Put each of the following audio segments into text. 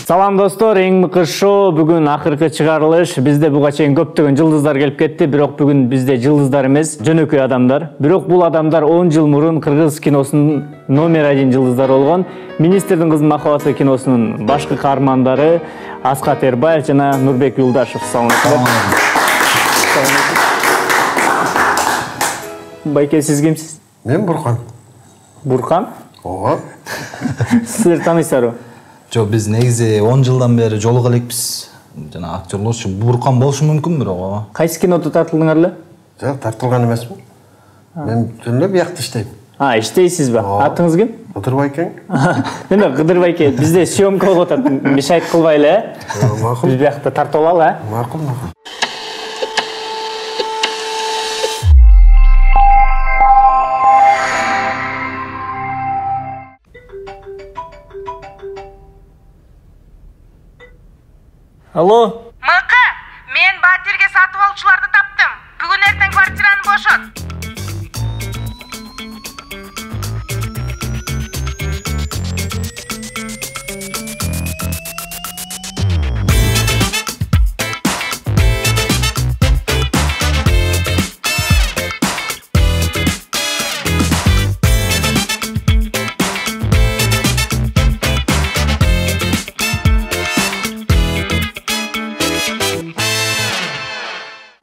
Салам достор, эң мыкты шоу бүгүн акыркы чыгарылыш. Бизде буга чейин көптөгөн жылдыздар келип кетти, бирок бүгүн бизде жылдыздар эмес, жөнөкөй адамдар. Бирок бул адамдар 10 жыл мурун кыргыз киносунун номер 1 жылдыздары болгон Министрдин кызынын махабаты киносунун башкы каармандары Аскат Эрбаев жана Нурбек Юлдашев. Салам. Байке, сиз кимсиз? Мен Буркан. Буркан? Ооба. Силер таанысыздарбы? Жок, биз негизи 10 жылдан бери жолуга элекпиз. Жана актерлорчу Буркан болушу мүмкүн бирок. Кайсы кинодо тартылдыңар эле? Жок, тартылган эмесмин. Мен жөн эле биякта иштейм. Иштейсизби? Атыңыз ким? Кыдыр байке. Неме Кыдыр байке, бизде съемка болуп атат. Мешайт кылбайлы, Макул. Биз биякта тартып алалы, Макул. Алло? Мыкы, мен Батирге сатып алуучуларды таптым. Бүгүн эртең квартираны бошот.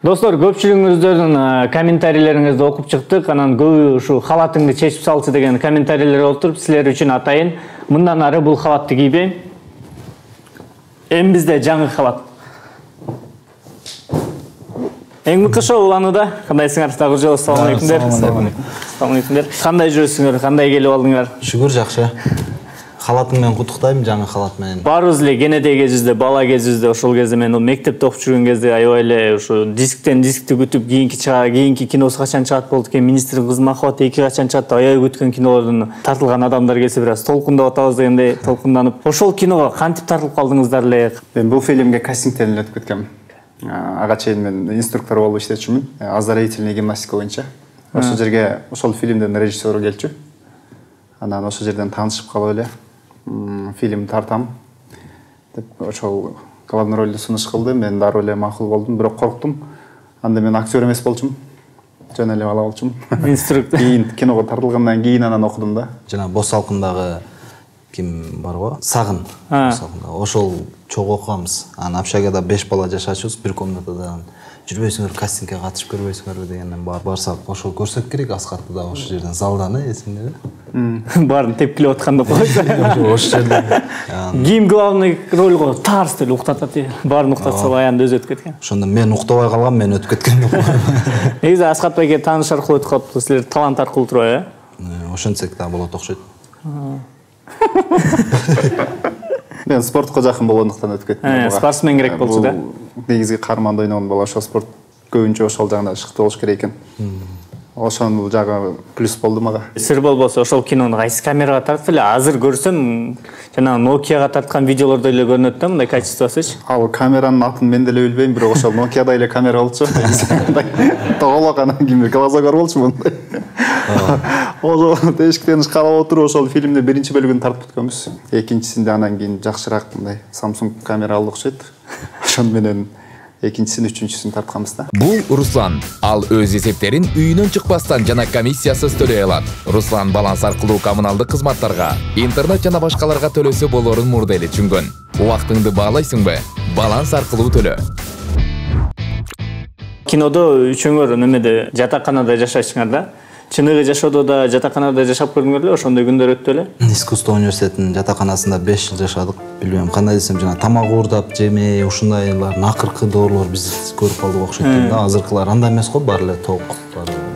Достор, көпчүлүгүңүздөрдүн комментарийлериңизди окуп чыктык. Анан көбү ушу халатыңды чечип салчы деген комментарийлер болуп, силер үчүн атайын. Мындан ары бул халатты кийбейм. Эми бизде жаңы халат. Эң мыкты шоу уланууда. Кандайсыңар? Дагы жолу салам алейкумдер. Салам алейкумдер. Кандай жүрөсүңөр? Кандай келип алдыңар? Шүгүр, жакшы. Халатың менен куттуктайм, жаңы халат менен. Барыбыз эле кенедей кезибизде, бала кезибизде, ошол кезде мен мектепте окуп жүргөн кезде аябай эле ушу дисктен дискти күтүп, кийинки киносу качан чыгат болду экен, Министрдин кызынын махабаты 2 качан чыгат, аябай күткөн кинолордун тартылган адамдар келсе бир аз толкундап атабыз дегендей толкунданып. Ошол киного кантип тартылып калдыңыздар эле? Мен бул фильмге кастингден эле өтүп кеткем. Ага чейин мен инструктор болуп иштечүмүн, оздоровительный гимнастика боюнча. Ошол жерге ошол фильмдин режиссеру келчү. Анан ошол жерден таанышып калып эле фильм тартам деп ошол главный ролду сунуш кылды. Мен дароо эле макул болдум, бирок корктум. Анда мен актер эмес болчумун. Жөн эле бала болчумун. Инструктор. Кийин киного тартылгандан кийин анан окудум да. Жана Бос салкындагы ким барбы? Сагын. Ошол чогуу окуганбыз. Анан общагада 5 бала жашачубуз, бир комнатада. Жүрбөйсүңөр, кастингге катышып көрбөйсүңөрбү дегенден барсак, ошол көрсөк керек, Аскатты да ошол жерден залдан, эсиңдеби? Баарын тепкилеп атканда койсо. Ошол жерден. Ким главный ролго тарс деле уктатат. Баарын уктатса аянда өзү өтүп кеткен. Ошондо мен уктабай калгам, мен өтүп кеткен деп коем. Негизи Аскат байке тааныш аркылуу өтүп калыптыр. Силер талант аркылуу турбайбы, Ошентсек да болот окшойт. Мен спортко жакын болгондуктан өтүп кеттим. Спортсмен керек болчу да. Негизги каарманда ойногон бала ошол спорт көбүнчө ошол жагына шыкты болуш керек экен. Ошонун жагы плюс болду мага. Сыр болбосо ошол кинону кайсы камерага тартып эле? Азыр көрсөм, жана Nokia'га тарткан видеолордо эле көрүнөт да, мындай качествосуч. Ал камеранын атын мен деле билбейм, бирок ошол Nokia'да эле камера болчу. Тоголок анан кимдир глазогор болчу мындай. Ошол тешиктен карап отуруп ошол фильмдин биринчи бөлүгүн тартып өткөнбүз. Экинчисинде анан кийин жакшыраак мындай Samsung камера алды окшойт. Ошон менен экинчисин, үчүнчүсүн тартканбыз да. Бул Руслан. Ал өз эсептерин үйүнөн чыкпастан жана комиссиясыз төлөй алат. Руслан баланс аркылуу коммуналдык кызматтарга, интернет жана башкаларга төлөсө болорун мурда эле түшүнгөн. Убактыңды баалайсыңбы? Баланс аркылуу төлө. Кинодо үчөңөр немеде жатаканада жашайсыңар да? Чыныгы жашоодо да жатаканада жашап көрдүңөр эле, ошондой күндөр өттү эле? Искусство университетинин жатаканасында 5 жыл жашадык. Билбейм, кандай десем, жана тамак уурдап, жемей, ушундайлардын акыркы доорлор биз көрүп калдык окшойт да. Азыркылар андай эмес го, баары эле ток.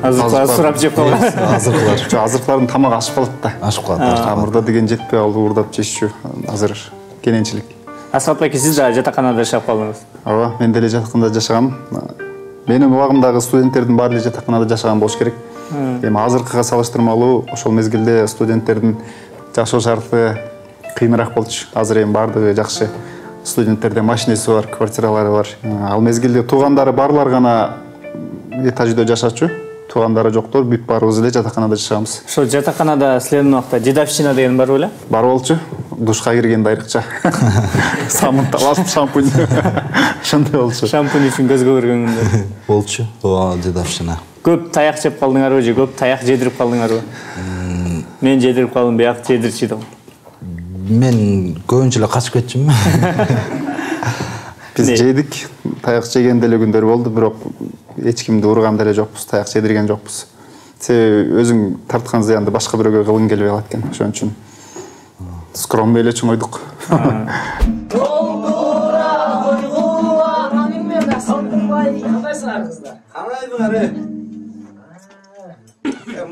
Азыркылар сурап жеп калган. Азыркылар. Азыркылардын тамагы ашып калат да. Ашып калат. Мурда деген жетпей калды, уурдап жешчү. Азыр кененчилик. Аскат байке, сиз да жатаканада жашап калдыңыз? Ооба, мен деле жатаканада жашагам. Менин убагымдагы студенттердин баары эле жатаканада жашаган болуш керек. Эми азыркыга салыштырмалуу ошол мезгилде студенттердин жашоо шарты кыйыныраак болчу. Азыр эми баардыгы жакшы. Студенттерде машинеси бар, квартиралары бар. Ал мезгилде туугандары барлар гана этажда жашачу. Туугандары жоктор, бүт баарыбыз эле жатаканада жашаганбыз. Ошо жатаканада силердин убакта дедовщина деген бар беле? Бар болчу. душка киргенде айрыкча самын талашып шампунь ошондой болчу. Шампунь үчүн көзгө көргөнгүндөр болчу. Ооба, жедавчына. Көп таяк жеп калдыңарбы же көп таяк жедирип калдыңарбы? Мен жедирип калдым, бияк жедирчү да. Мен көбүнчө эле качып кетчүмүн. Биз жедик, таяк жеген деле күндөр болду, бирок эч кимди урган деле жокпуз, таяк жедирген жокпуз. Себеби өзүң тарткан зыянды башка бирөөгө кылгың келбей калат экен. Ошон үчүн скромный эле чоңойдук.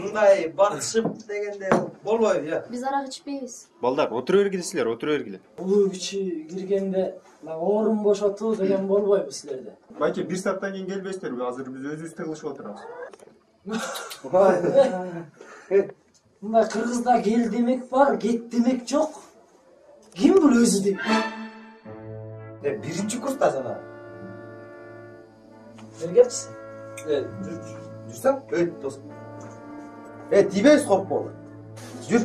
Мындай батышып дегенде болбойт, я. Биз арак ичпейбиз. Балдар, отура бергиле силер, отура бергиле. Улуу кичи киргенде орун бошотуу деген болбойбу силерде? Байке, 1 сааттан кийин келбейсиздерби? Азыр биз өзүбүздө кылышып отурабыз. Мындай Кыргызда кел демек бар, кет демек жок. Ким бул өзү деп? Биринчи курста жана. Келгепсиз? Жүрсөң, дос. Тийбейсиз коркпоо. Жүр.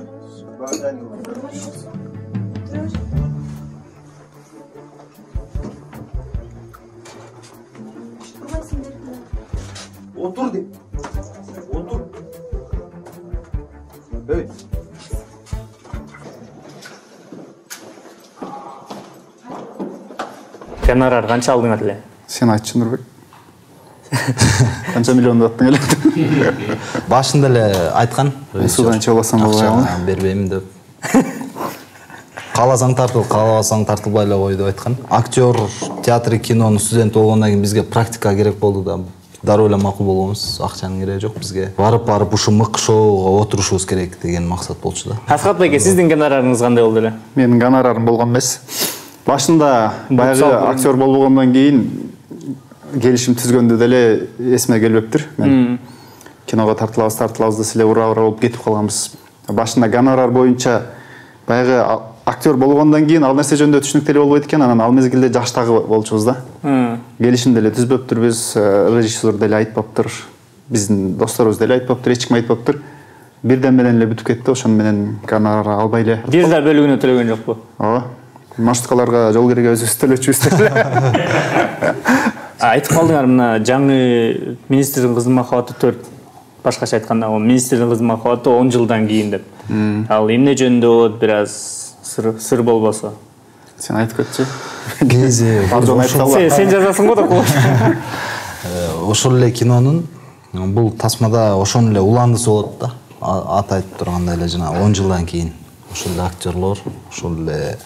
Отур деп. Отур. Гонорар канча алдыңар эле? Сен айтчы, Нурбек. Канча миллион аттың эле? Башында эле айткан. Судан чабасам болбойбу? Бербейм деп. Кааласаң тартыл, каалабасаң тартылбай эле кой деп айткан. Актер, театр, кинонун студенти болгондон кийин бизге практика керек болду да. Дароо эле макул болгонбуз. Акчанын кереги жок бизге. Барып ушу мык шоуга отурушубуз керек деген максат болчу да. Асхат байке, сиздин гонорарыңыз кандай болду эле? Менин гонорарым болгон эмес. Башында баягы актер болбогондон кийин келишим түзгөндө деле эсиме келбептир. Мен киного тартылабыз да силе ура болуп кетип калганбыз. Башында гонорар боюнча баягы актер болгондон кийин ал нерсе жөнүндө түшүнүктүү эле болбойт экен, анан ал мезгилде жаштагы болчубуз да. Келишим деле түзбөптүрбүз, режиссер деле айтпаптыр, биздин досторубуз деле айтпаптыр, эч ким айтпаптыр. Бирден менен эле бүтүп кетти, ошону менен гонорар албай эле. Бир да бөлүгүнө төлөгөн жокпу? Ооба. Маршруткаларга жол кереги өзүбүз төлөчүбүз деле. Айтып калдыңар, мына жаңы министрдин кызы махабаты 4. Башкача айтканда, министрдин кызы махабаты 10 жылдан кийин деп. Ал эмне жөнүндө болот, бир аз сыр болбосо. Сен айтып кетчи. Кези. Сен жазасың го да кош. Ошол эле кинонун бул тасмада ошон эле уландысы болот да. Аты айтып тургандай эле жана 10 жылдан кийин ошол эле актерлор, ошол эле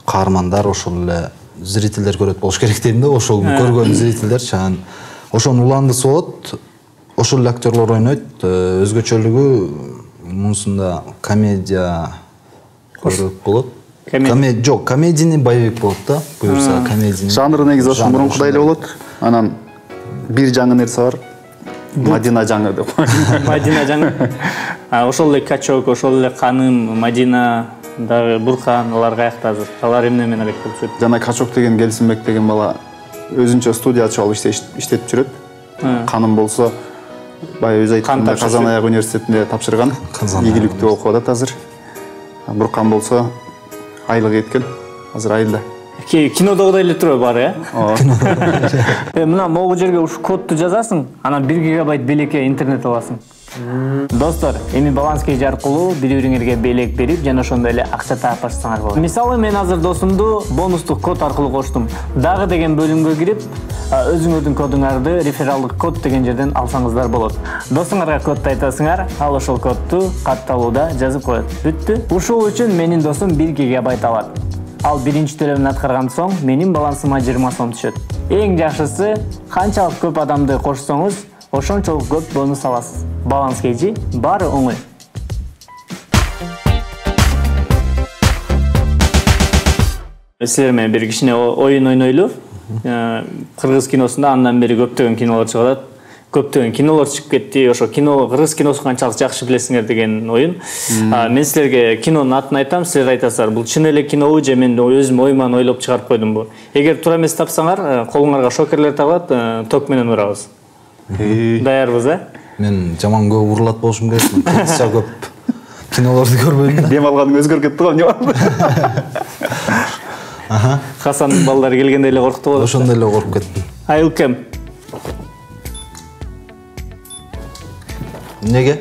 каармандар, ошол эле зрительдер көрөт болуш керек дейм да. Ошол көргөн зрительдер чаган ошонун уландысы болот. Ошол эле актерлор ойнойт. Өзгөчөлүгү мунусунда комедия көрөк болот. Комедия жок, комедийный боевик болот да. Буюрса комедийный. Жанры негизи ошо мурункудай эле болот. Анан бир жаңы нерсе бар. Мадина жаңы деп. Мадина жаңы. Ошол эле Качок, ошол эле Каным, Мадина дагы Бурхан, алар каякта азыр? Алар эмне менен элек болуп жүрөт? Жана Качок деген Келсинбек деген бала өзүнчө студия ачып алып иштетип жүрөт. Каным болсо баягы өзү айткандай Казан аяк университетинде тапшырган. Ийгиликтүү окуп атат азыр. Бурхан болсо айлык кеткен. Азыр айылда. Кинодогудай эле турбайбы баары, э? Мына могу жерге ушу кодду жазасың, анан 1 гигабайт белекке интернет аласың. Достор, эми баланс кеж аркылуу бири-бириңерге белек берип, жана ошондой эле акча таап башсаңар болот. Мисалы, мен азыр досумду бонустук код аркылуу коштум. Дагы деген бөлүмгө кирип, өзүңөрдүн кодуңарды рефералдык код деген жерден алсаңыздар болот. Досуңарга кодду айтасыңар, ал ошол кодду катталууда жазып коет. Бүттү. Ушул үчүн менин досум 1 гигабайт алат. Ал биринчи төлөмүн аткарган соң менин балансыма 20 сом түшөт. Эң жакшысы, канчалык көп адамды кошсоңуз, ошончолук көп бонус аласыз. Баланс кежи баары оңой. Силер менен бир кичине оюн ойнойлу. Кыргыз киносунда андан бери көптөгөн кинолор чыгат. Көптөгөн кинолор чыгып кетти. Ошо кино, кыргыз киносун канчалык жакшы билесиңер деген оюн. Мен силерге кинонун атын айтам, силер айтасыздар, бул чын эле кинобу же мен өзүм оюман ойлоп чыгарып койдумбу. Эгер туура эмес тапсаңар, колуңарга шокерлер табылат, ток менен урабыз. Даярбыз, э? Мен жаман көп урулат болушум керек. Кыргызча көп кинолорду көрбөдүм. Дем алганың өзгөрүп кетти го, эмне болду? Хасандын балдары келгенде эле коркуп калды. Ошондой эле коркуп кеттим. Айылкем. Неге?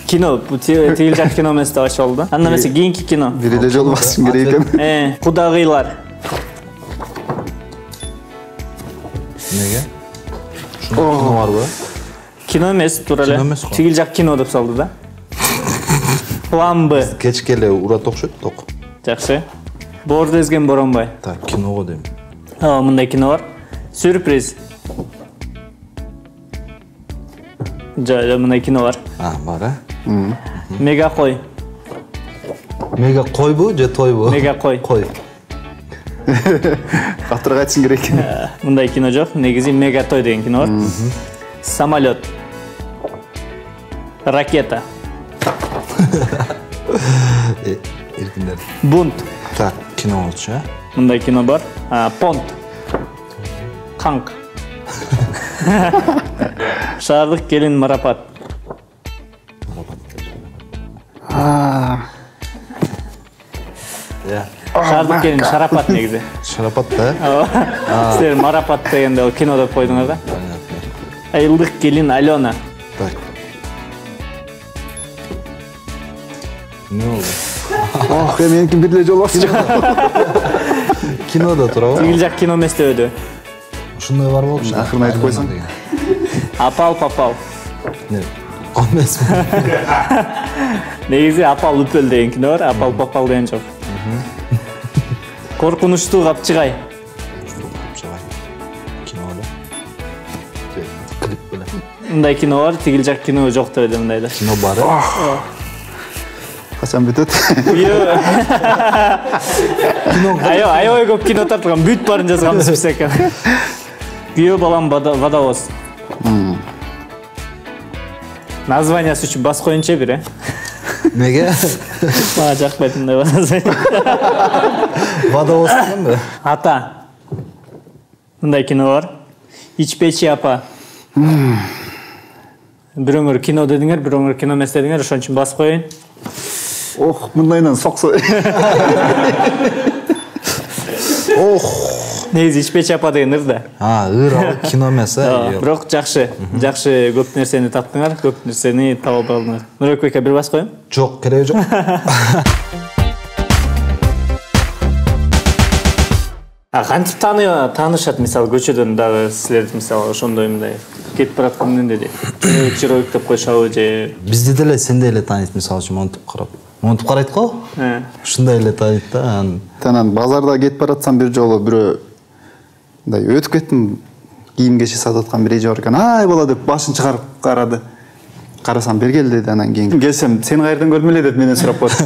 Кино, тигил жак кино эмес деп ачып алды да. Анда эмесе кийинки кино. Бир эле жолу басышым керек экен. Кудагыйлар. Неге? Ушундай кино барбы? Кино эмес, туура эле. Кино эмес го. Тигил жак кино деп салды да. План Б. Кечке эле урат окшойт, ток. Жакшы. Боорду эзген Боронбай. Так, киного дейм. Мындай кино бар. Сюрприз. Мындай кино бар. Бар, э? Мега кой. Мега койбу же тойбу? Мега кой. Кой. Катырга айтышың керек экен. Мындай кино жок. Негизи Мега той деген кино бар. Самолет. Ракета. Эркиндер. Бунт. Так, кино болчу, э? Мындай кино бар. Понт. Канк. Шаардык келин марапат. Шаардык келин шарапат негизи. Шарапат да? Силер марапат дегенде ал кино деп койдуңар да. Айылдык келин Алена. Так. Не болду? Ох, меники бир эле жолу басчу. Кинода турабы? Тигил жак кино эмес деп өдү. Ушундай бар болчу. Акырын айтып койсоң. Апал папал. Не? Эмесми? Негизи апал үпөл деген кино бар, апал папал деген жок. Коркунучтуу капчыгай. Кино эле. Клип беле. Мындай кино бар, тигил жак кино жок деп өдү мындайда. Кино бар, э? Качан бүтөт? Аябай көп кино тартылган, бүт барын жазганбыз биз экен. Күйөө балам водовоз. Названиясы үчүн бас коюнчу бир, э? Неге? Мага жакпайт мындай название. Водовоз дегенби? Ата. Мындай кино бар. Ичпечи апа. Бирөөңөр кино дедиңер, бирөөңөр кино эмес дедиңер, ошон үчүн бас коюн. Ох, мындайынан соксо. Ох. Негизи ичпечи апа деген ыр да. Ыр ал кино эмес, э? Бирок жакшы. Жакшы көп нерсени таптыңар, көп нерсени таба алдыңар. Нурбекке бир бас коюн? Жок, кереги жок. Кантип таанышат, мисалы көчөдөн дагы силерди мисалы ошондой мындай кетип бараткан эмнеде чыройк деп коюшабы же бизди деле сендей эле тааныйт, мисалы үчүн монтип карап. Монтип карайт го? Ушундай эле тааныйт да. Танан базарда кетип баратсам бир жолу бирөө мындай өтүп кеттим, кийим кечи сатып аткан бир эже бар экен. Ай бала деп башын чыгарып карады. Карасам бергел деди, анан кийин келсем, сени кайерден көрдүм эле деп менден сурап коет.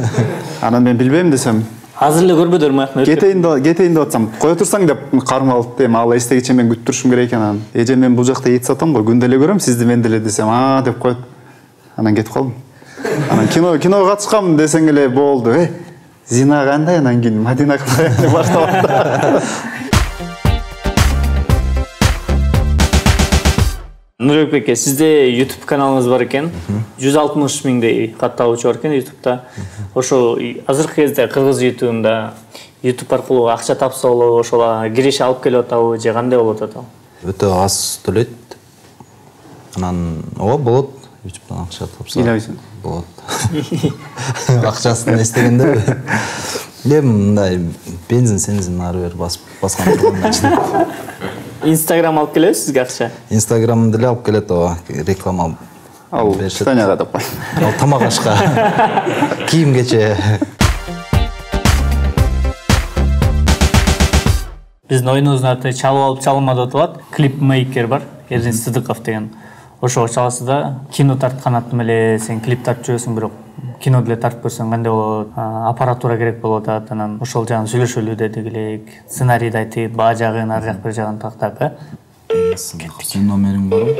Анан мен билбейм десем, азыр эле көрбөдүр маякны. кетейин деп атсам, кое турсаң деп кармап алып дем, ал эстегиче мен күтүп турушум керек экен анан. Эже мен бул жакта ет сатам го, күндө эле көрөм сизди мен деле десем, деп коет. Анан кетип калдым. Анан киного катышкам десең эле болду. Зина кандай, анан кийин Мадина кандай деп башталат. Нурбек беке, сизде YouTube каналыңыз бар экен. 160 миңдей катталуучу бар экен YouTube'да. Ошо азыркы кезде кыргыз YouTube'унда YouTube аркылуу акча тапса болобу, ошола киреше алып келип атабы же кандай болот атабы? Өтө аз төлөйт. Анан болот. YouTube'дан акча тапса. Ыйлайсың. Болот. Акчасын эстегенде. Мындай бензин ары бери баскан турган. Instagram алып келеби сизге акча? Instagram деле алып келет, реклама. Ал Таняга деп кой. Ал тамак ашка. Кийим кече. Биздин оюнубуздун аты чалып алып чалынмады деп аталат. Клипмейкер бар, Эрдин Сыдыков деген. Ошого чаласыз да, кино тарткан аттым эле сен клип тартып жүрөсүң, бирок кино деле тартып көрсөң кандай болот? Аппаратура керек болот, анан ошол жагын сүйлөшөлү дедик элек. Сценарийди айтып, баа жагын, ар жак бир жагын тактап, Сен номериң барбы?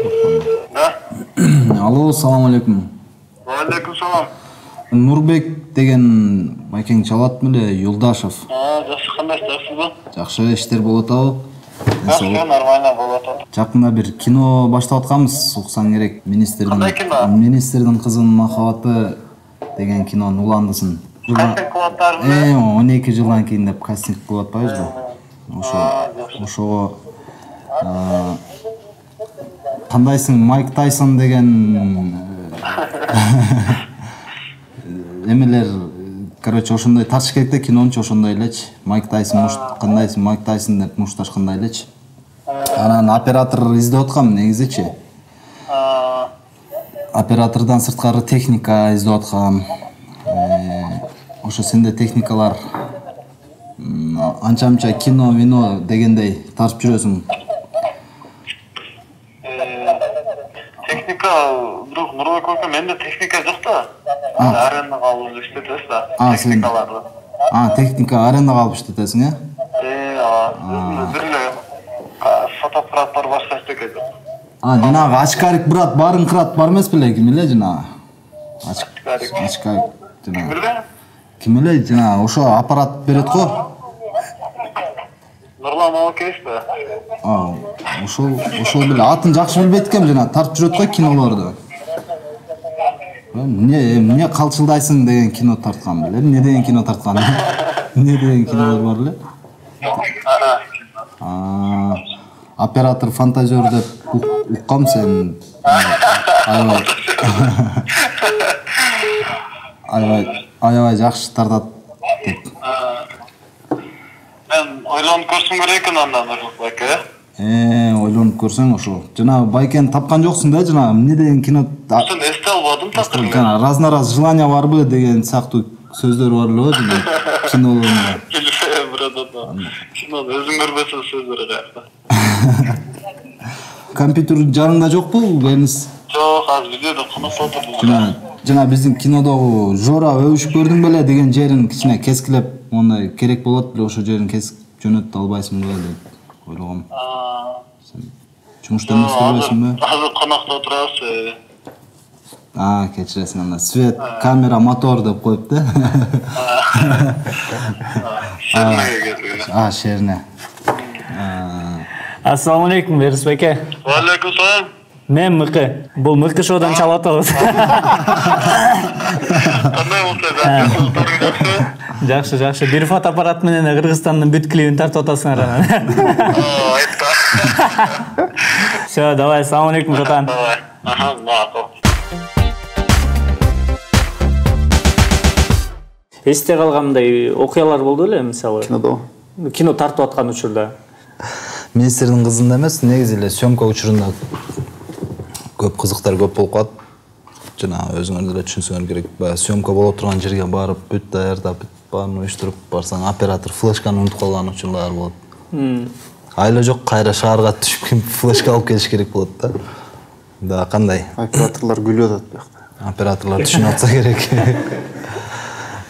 Да. Алло, салам алейкум. Алейкум салам. Нурбек деген байкең чалат беле, Юлдашев. Жакшы, кандайсыз, жакшысызбы? Жакшы, иштер болот абы? Жакшы, нормально болот. Жакында бир кино баштап атканбыз, уксаң керек. Кандай кино? Министрдин кызынын махабаты деген кинонун уландысын. Кастинг кылып атпарбы? 12 жылдан кийин деп кастинг кылып атпайбызбы? Ошого кандайсың Майк Тайсон деген эмелер, короче, ошондой Ташкентте кинончу ошондой элечи. Майк Тайсон кандайсың Майк Тайсон деп мушташкандай элечи. Анан оператор издеп аткам негизичи. Оператордон сырткары техника издеп аткам. Ошо сенде техникалар анча-мынча кино дегендей тартып жүрөсүң. Техника, бирок Нурбек ака, менде техника жок да. Аренага алып иштетебиз да. Техникаларды. Техника аренага алып иштетесиң, э? Бир эле фотоаппарат бар, башка эчтеке жок. Жанагы Ачкарик брат барын кырат бар эмес беле, ким эле жанагы? Ачкарик жанагы. Ким эле жанагы ошо аппарат берет го? Нурлан Алкеевби? Ошол беле атын жакшы билбейт экем, жана тартып жүрөт го кинолорду. Эмне калчылдайсың деген кино тарткан беле. Эмне деген кино тарткан? Эмне деген кинолор бар эле? Оператор фантазер деп уккам сен. Аябай жакшы тартат деп. Мен ойлонуп көрсөм керек экен андан Нурлан ака. Ойлонуп көрсөң ошо. Жана байкени тапкан жоксуң да, жана эмне деген кино? Сен эсте албадым такыр. Раз желание барбы деген сыяктуу сөздөр бар эле жана кинолорунда. Кинону өзүң көрбөсөң сөздөр каякта. Компьютер жаныңда жокпу, Бернис? Жок, азыр видеодо канаса отурдум. Жана биздин кинодогу Жора өбүшүп көрдүң беле деген жерин кичине кескилеп, мондай керек болот, бирок ошо жерин кесип жөнөтө албайсың беле деп ойлогом. Сен жумушта эмес көрбөйсүңбү? Азыр конокто отурабыз. Кечиресиң анда. Свет, камера, мотор деп коюп да. Шерне. Ассаламу алейкум, Берис беке. Ва алейкум салам. Мен Мыкы. Бул Мыкы шоудан чалып атабыз. Кандай болсо? Жакшы. Бир фотоаппарат менен Кыргызстандын бүт клибин тартып атасыңар анан. Айтпа. Всё, давай, ассаламу алейкум, Жотан. Давай. Макул. Эсте калгандай окуялар болду эле, мисалы. Кино тартып аткан учурда. Министрдин кызында эмес, негизи эле съемка учурунда көп кызыктар көп болуп калат. Жана өзүңөр деле түшүнсөңөр керек. Баягы съемка боло турган жерге барып, бүт даярдап, баарын уюштуруп барсаң, оператор флешканы унутуп калган учурлар болот. Айла жок, кайра шаарга түшүп флешка алып келиш керек болот да. Да, кандай? Операторлор күлүп атат биякта. Операторлор түшүнүп атса керек.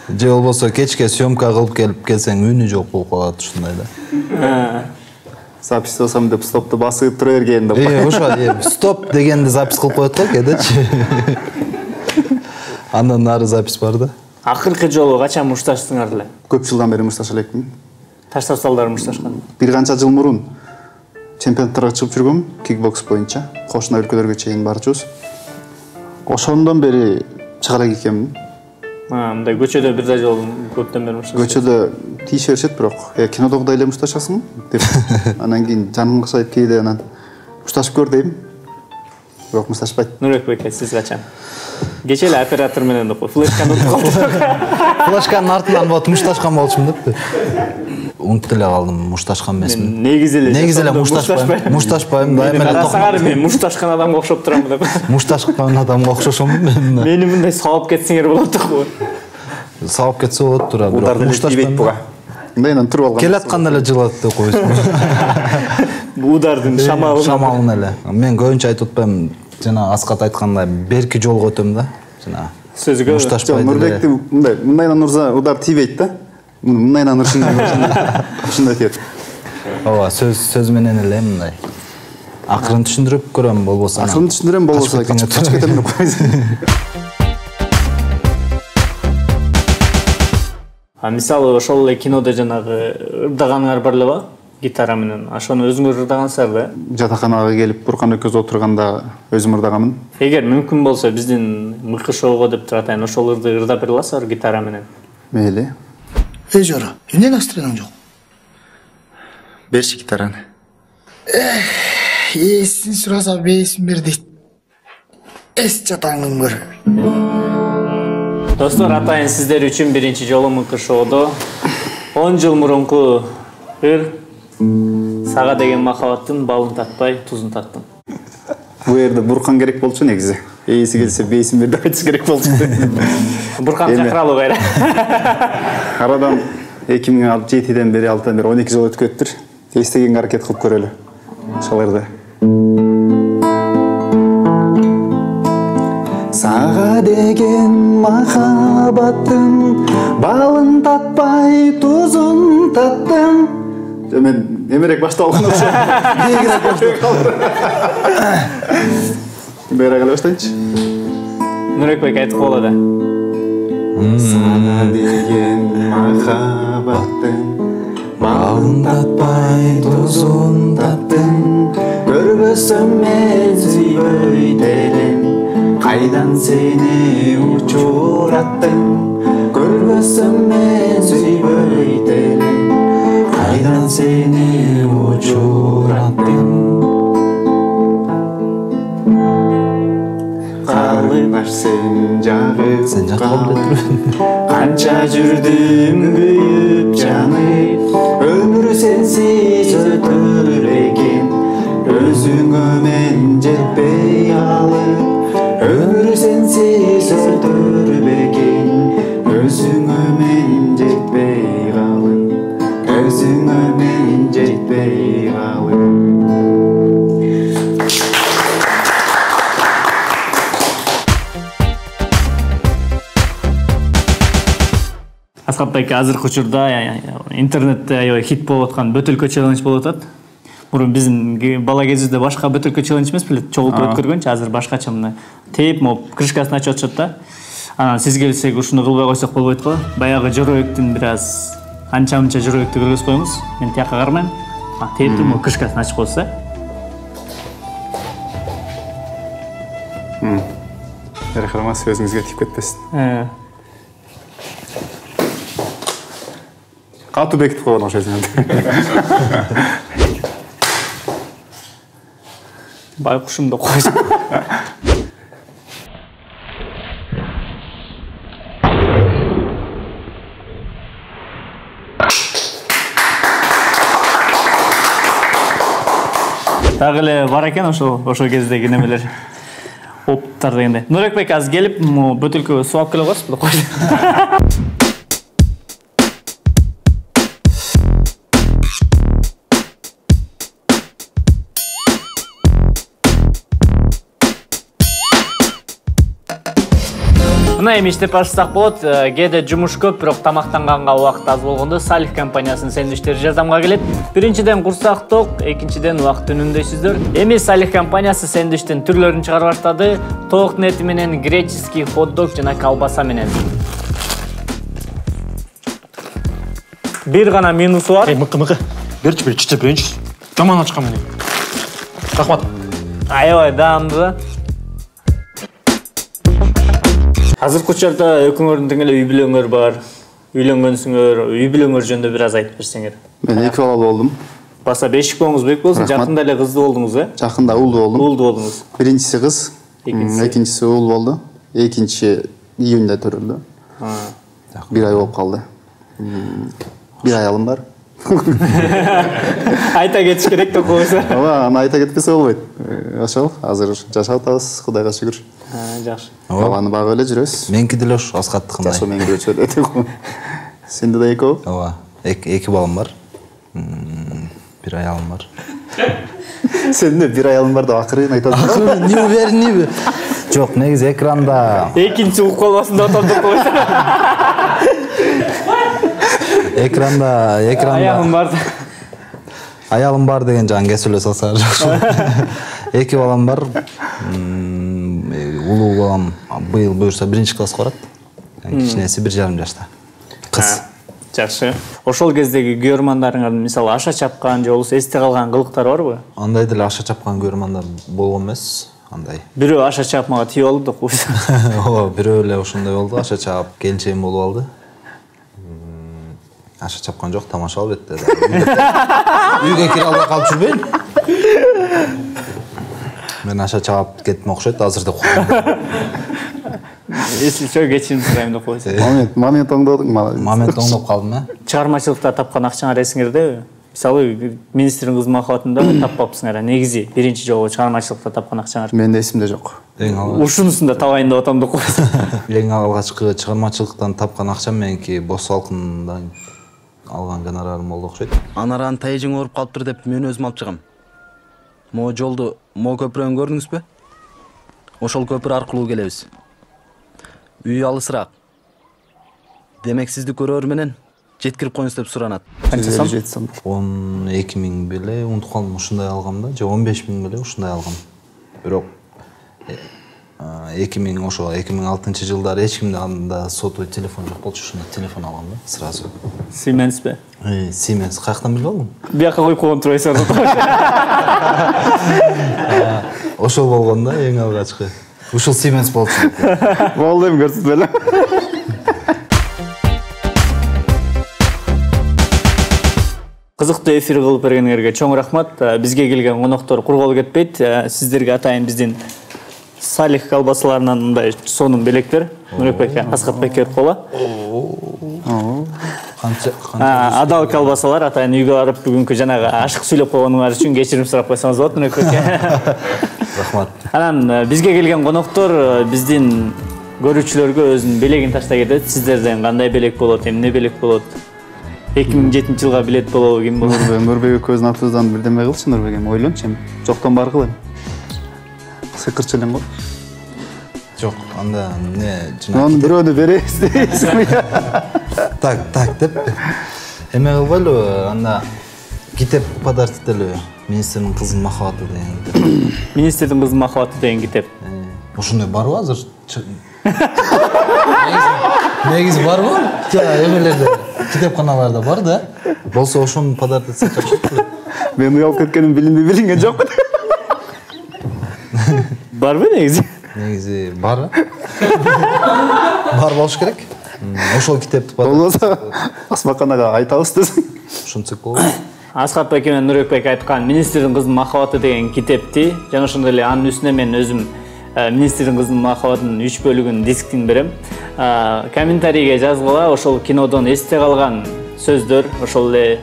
Же болбосо кечке съемка кылып келсең үнү жок болуп калат ушундай да. Запись кылсам деп стопты басып тура берген деп. Ошо, стоп дегенди запись кылып коет го кедечи. Андан нары запись бар да. Акыркы жолу качан мушташтыңар эле? Көп жылдан бери мушташа элекмин. Таштап салдар мушташкан. Бир канча жыл мурун чемпионаттарга чыгып жүргөм, кикбокс боюнча. Кошуна өлкөлөргө чейин барчубуз. Ошондон бери чыга элек экенмин. Мындай көчөдө бир да жолу көптөн бери мушташат. Көчөдө тийише беришет, бирок кинодогудай эле мушташасың деп. Анан кийин жаным кышайып кейде анан мушташып көр дейм. Бирок мушташпайт. Нурбек беке, сиз качан? Кече эле оператор менен деп кой, флешканы унутуп калдым. Флешканын артынан болот мушташкан болчумун деппи. Унутуп эле калдым, мушташкан эмесмин. Негизи эле мушташпайм. Мушташпайм, дайыма эле токмок. Мен мушташкан адамга окшоп турам деп. Мушташкан адамга окшошомун мен. Мени мындай сабап кетсеңер болот го. Сабап кетсе болот тура, бирок мушташпайм буга. Мындайдан туруп алган. Келатканда эле жылат деп коесуң. Бул удардын шамалын эле. Мен көбүнчө айтып атпайм, жана Аскат айткандай берки жолго өтөм да. Жана сөзгө мушташпайт. Нурбекти мындайдан урса удар тийбейт да. Мындайдан урушун ушундай тийет. Ооба, сөз менен эле мындай. Акырын түшүндүрүп көрөм, болбосо. Акырын түшүндүрөм, болбосо качып кетем деп койсуң. Мисалы ошол эле кинодо жанагы ырдаганыңар бар эле ба? гитара менен. Ошону өзүңөр ырдагансыздар да? Жатаканага келип Буркан экөөбүз отурганда өзүм ырдагамын. Эгер мүмкүн болсо биздин мыкы шоуга деп туруп атайын, ошол ырды ырдап бере аласызбы гитара менен? Мейли. Эй Жора, эмне настроениң жок? Берчи гитараны. Эсин сураса бейсин бер дейт. Эс жатаңын көр. Достор, атайын сиздер үчүн биринчи жолу мыкы шоудо 10 жыл мурунку ыр Сага деген махабаттын балын татпай, тузун таттым. Бу жерде Буркан керек болчу негизи. Эйси келсе бейсин бер деп айтыш керек болчу. Буркан чакыралуу кайра. Арадан 2007-ден бери 6-дан бери 12 жыл өтүп кетиптир. Эстегенге аракет кылып көрөлү. Ошолорду. Сага деген махабаттын балын татпай, тузун таттым. Мен эмерек баштап алган болсо, бийигирээк баштап калдым. Бери калып баштайынчы. Нурекбек айтып коелу да. Сага деген махабаттын балын татпай, тузун таттым. Көрбөсөм мен сүйбөйт элем, кайдан сени учураттым. Көрбөсөм мен сүйбөйт элем, кайдан сени учураттым. Карындаш сен жагып канча жүрдүм күйүп жанып, өмүр сенсиз өтөр экен, өзүңө мен жетпей калып. Өмүр сенсиз өтөр экен, өзүңө мен жетпей калып, өзүңө мен жетпей калып. Асхат байке, азыркы учурда интернетте аябай хит болуп аткан бөтөлкө челлендж болуп атат. Мурун биздин бала кезибизде башка бөтөлкө челлендж эмес беле, чогултуп өткөргөнчү, азыр башкача мына тейп моп крышкасын ачып атышат да. Анан сиз келсек ушуну кылбай койсок болбойт го. Баягы жөрөктүн бир аз анча-мынча жөрөктү кыргызып коюңуз. Мен тияка кармайм. Тейптин моп крышкасын ачып койсо. Бери карамас, өзүңүзгө тип кетпесин. Катуу бекитип койгон окшойсуң. Байкушум деп койсо. Дагы эле бар экен ошо кездеги немелер. Оптар дегенде. Нурекбек азыр келип, бөтөлкөгө суу алып келе коесузбу деп койду. Мына эми иштеп баштасак болот. Кээде жумуш көп, бирок тамактанганга убакыт аз болгондо Салих компаниясынын сэндвичтери жардамга келет. Биринчиден курсак ток, экинчиден убакыт үнүмдөйсүздөр. Эми Салих компаниясы сэндвичтин түрлөрүн чыгарып баштады. Тоок эти менен, греческий хот-дог жана колбаса менен. Бир гана минусу бар. Мыкы. Берчи бир чичеп берейинчи. Жаман ачкан менен. Рахмат. Аябай даамдуу да. Азыркы учурда экөөңөрдүн тең эле үй бүлөңөр бар. Үйлөнгөнсүңөр, үй бүлөңөр жөнүндө бир аз айтып берсеңер. Мен 2 балалуу болдум. Баса бешик болуңуз бек болсун, жакында эле кыздуу болдуңуз, э? Жакында уулдуу болдум. Уулдуу болдуңуз. Биринчиси кыз, экинчиси уул болду. Экинчи июнда төрөлдү. Бир ай болуп калды. Бир аялым бар. Айта кетиш керек деп койсо. Ооба, аны айта кетпесе болбойт. Ошол, азыр жашап атабыз, Кудайга шүгүр. Жакшы. Баланы багып эле жүрөбүз. Меники деле ош Асхаттыкындай. Жашоо менин көчөдө. Сенде да экөө? Ооба. Эки балам бар. Бир аялым бар. Сенде бир аялым бар деп акырын айтасың. Не уверенби? Жок, негизи экранда. Экинчи угуп калбасын деп атам деп койсо. Экранда аялым бар. Аялым бар деген жагын кесип эле салса жакшы. Эки балам бар. Улуу балам быйыл буюрса 1-класска барат. Кичинеси 1,5 жашта. Кыз. Жакшы. Ошол кездеги көрөрмандарыңардын мисалы аша чапкан же болбосо эсте калган кылыктар барбы? Андай деле аша чапкан көрөрмандар болгон эмес. Андай. Бирөө аша чапмага тийип алды да. Ооба, бирөө эле ошондой болду. Аша чап келчейим болуп алды. Аша чапкан жок, тамаша албетте. Үйгө кире албай калып жүрбөйүн. Мен аша чап кеттим окшойт, азырда курдум. Если чё, кечирим сурайм деп койсоң. Момент оңдодуң, Момент оңдоп калдым, Чыгармачылыкта тапкан акчаңар эсиңердеби? Мисалы, министрдин кызы махабатында таппапсыңар, негизи биринчи жолу чыгармачылыкта тапкан акчаңар. Менде эсимде жок. Ушунусун да табайын деп атам деп койсоң. Эң алгачкы чыгармачылыктан тапкан акчам меники Бос салкындан алган гонорарым болду окшойт. Анаран тайжың ооруп калыптыр деп мен өзүм алып чыгам. Могу жолду көпүрөн көрдүңүзбү? Ошол көпүр аркылуу келебиз. Үй алысыраак. Демек сизди көрөр менен жеткирип коюңуз деп суранат. Канча сом? 12 миң беле унутуп калдым, ушундай алгам да, же 15 миң беле ушундай алгам. Бирок 2006 жылдары эч кимде анда сотовый телефон жок болчу, ушундай телефон алгам да сразу. Siemensби? Siemens, каяктан билип алдың? Бияка коюп койгон турбайсың. Ошол болгон да эң алгачкы. Ушул Siemens болчу. Болду эми көрсөтүп эле. Кызыктуу эфир кылып бергениңерге чоң рахмат. Бизге келген коноктор кур кол кетпейт. Сиздерге атайын биздин Салих колбасаларынан мындай сонун белектер. Нурбек Аскатбек берип койгула. Адал колбасалар атайын үйгө барып бүгүнкү жанагы ашык сүйлөп койгонуңар үчүн кечирим сурап койсоңуз болот, Нурбек. Рахмат. Анан бизге келген коноктор биздин көрүүчүлөргө өзүнүн белегин таштай кетет. Сиздерден кандай белек болот, эмне белек болот? 2007 жылга билет болобу, ким болот? Нурбек көзүн атыбыздан бирдеме кылчы, Нурбек эми ойлончу эми. Жоктон бар кыл эми. Сыкырчы элең го. Жок, анда эмне жана. Аны бирөөнү беребиз дейсизби? Так деп. Эме кылбайлыбы? Анда китеп подарок этелби? Министрдин кызынын махабаты деген. Министрдин кызынын махабаты деген китеп. Ошондой барбы азыр? Негизи барбы? Эмелерде, китепканаларда бар да. Болсо ошону подарок этсе жакшы. Мен уялып кеткеним билинген жокпу? Барбы негизи? Негизи бар. Бар болуш керек. Ошол китепти болбосо Асмаканага айтабыз десең. Ушунча болот. Аскатбек менен Нурбек айткан Министрдин кызынын махабаты деген китепти жана ошондой эле анын үстүнө мен өзүм Министрдин кызынын махабатынын 3 бөлүгүн дисктин берем. Комментарийге жазгыла ошол кинодон эсте калган сөздөр, ошол эле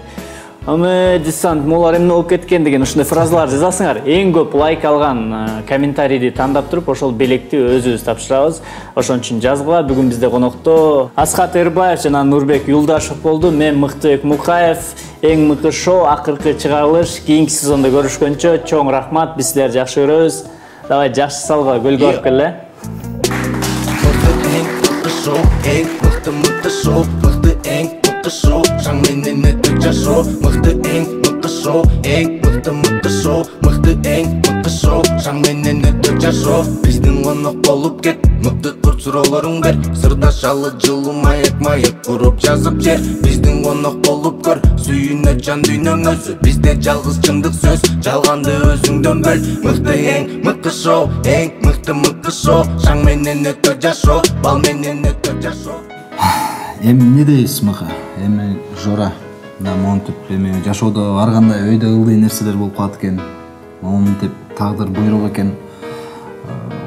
десант молар эмне болуп кеткен деген ушундай фразалар жазасыңар. Эң көп лайк алган комментарийди тандап туруп ошол белекти өзүбүз тапшырабыз. Ошон үчүн жазгыла. Бүгүн бизде конокто Аскат Эрбаев жана Нурбек Юлдашев болду. Мен Мыктыбек Мукаев. Эң мыкты шоу акыркы чыгарылыш. Кийинки сезондо көрүшкөнчө чоң рахмат. Биз силерди жакшы көрөбүз. Давай жакшы салга көлгө барып келе. Шаң менен өтөк жашоо мыкты эң мыкты шоу эң мыкты шоу мыкты эң мыкты шоу шаң менен өтөк жашоо биздин конок болуп кет мыкты тур суроолоруң бер сырдашалы жылуу маек куруп жазып жер биздин конок болуп көр сүйүнө жан дүйнөң өзү бизде жалгыз чындык сөз жалганды өзүңдөн бөл мыкты эң мыкты шоу шаң менен өтөк жашоо бал менен өтөк жашоо. Эми эмне дейсиз мыка? Эми жора да монтип эми жашоодо ар кандай өйдө ылдый нерселер болуп калат экен. Монтип тагдыр буйрук экен.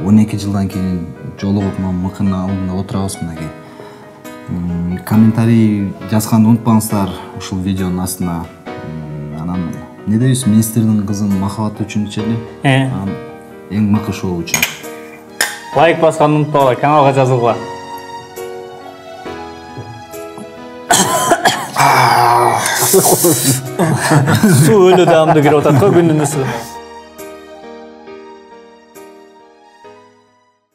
12 жылдан кийин жолугуп мыкынын алдында отурабыз мынакей. Комментарий жазганды унутпаңыздар ушул видеонун астына. Анан эмне дейсиз? Министрдин кызынын махабаты үчүнчү эле. Эң мыкты шоу үчүн. Лайк басканды унутпагыла, каналга жазылгыла. Суу өлө даамды кирип атат го күнүнүн ысыгы.